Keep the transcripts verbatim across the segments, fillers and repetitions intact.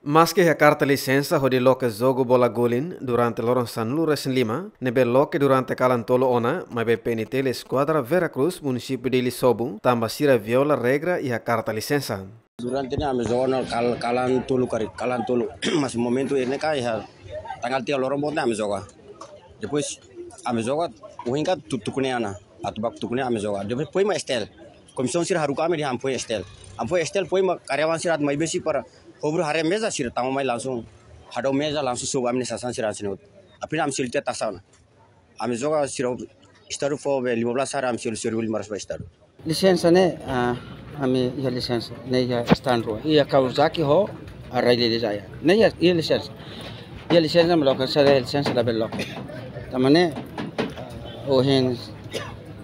Maske iha karta lisensa hodi loke jogu bola guling durante loron sanulu-resin-lima, ne'ebé loke durante kalan tolu ona, maibé P N T L Eskuadra Vera Cruz, Munisípiu Dili sobu, tanba sira viola regra iha karta lisensa. Durante ne'e ami joga ona kal-, kalan tolu karik, kalan tolu. Mas momentu ne'e ka iha tanggal tiga loron boot ne'e ami joga. Depois ami joga, ohin ka tu-, tuku ne'e ona. Atu baku tuku ne'e ami joga. Depois foin mak S T L. Komisaun sira haruka ami dehan foin S T L. Ami foin S T L, foin mak karyawan sira atu mai besi para hobru haree meza, sira tama mai langsung hadau meza, langsung sobu ami-nia sasán sira hanesan ne'e hotu. Apenas ami selu tiha taxa ona. Ami joga sira Estadu fó be lima belas hari, ami selu seribu lima ratus ba Estadu. Lisensa ne'e, ah, ami iha lisensa ne'e iha stand rua. Iha Kawasaki ho, ah, Rai Lili Jaya. Ne'e iha, iha lisensa. Iha lisensa mak loke, se iha lisensa labele loke. Tanba ne'e, ah, ohin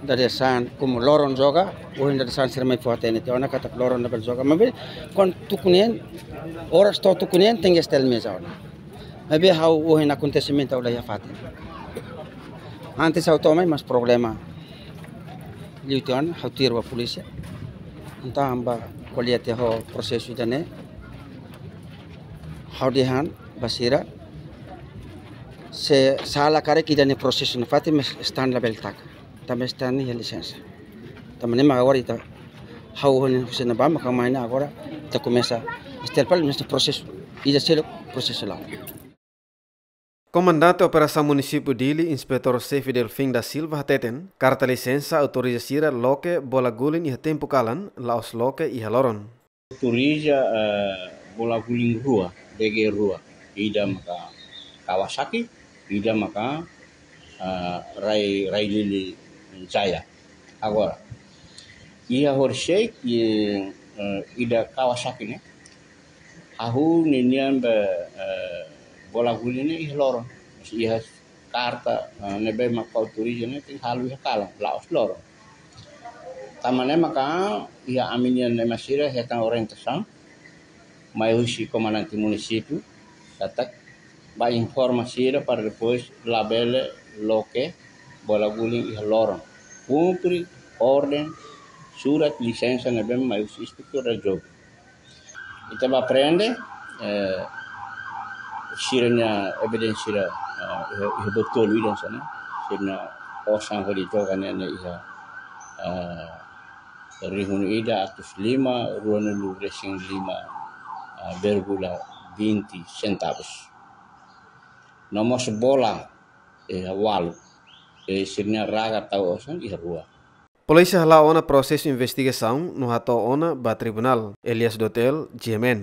dadeer-saan, komu loron joga, ohin dadeer-saan sira mai fó-hatene tiha ona katak loron labele joga. Maibé, kuandu tuku neen, oras to'o tuku neen, tenke S T L meza ona. Maibé ha'u ohin akontesimentu ha'u la iha fatin. Antes ha'u to'o mai mas problema liu tiha ona, ha'u tuir ba polísia. Entaun ami bá ko'alia tiha ho prosesu ida-ne'e. Ha'u dehan ba sira, se sala karik ida-ne'e prosesu nafatin, mas stand labele taka. Tanba stand ne'e iha lisensa. Tanba ne'e mak agora ita, ha'u ohin husi ne'ebá mak mai ne'e agora ita komesa S T L pali mesti prosesu. Ida seluk prosesu la'o. Komandante Operasaun Munisípiu Dili, Inspetór Xefe Delfim da Silva hateten, karta lisensa autoriza sira loke bola guling iha tempu kalan, la'ós loke iha loron. Autoriza, eh, bola guling rua, B G rua. Ida maka Kawasaki, ida maka, eh, Rai, Rai Lili Jaya. Agora, iha horisehik, eh, ida Kawasaki ne'e, hahú ninian be, eh, bola guling ne'e iha loron. Iha karta, eh, ne'ebé mak autoriza ne'e tenke halo iha kalan, la'ós loron. Tanba ne'e maka iha ami-nian ema sira hetan orientasaun mai husi komandante munisípiu, katak bá informa sira para depois labele loke bola guling iha loron. Kumpre orden surat lisensa ne'ebé mai husi inspektór jogu. Ita bá aprende, eh, sira-nia evidénsia, eh, iha, iha botolu ida hanesan ne'e. Sira-nia osan hodi joga ne'e, ne'e iha, eh, rihun ida atus lima, ruanulu-resin-lima, eh, vírgula vinte centavos. No mós bola, eh, walu. Eh, sira-nia raga tau osan iha rua. Polísia hala'o ona prosesu investigasaun no hato'o ona ba tribunál. Elias Dotel, G M N.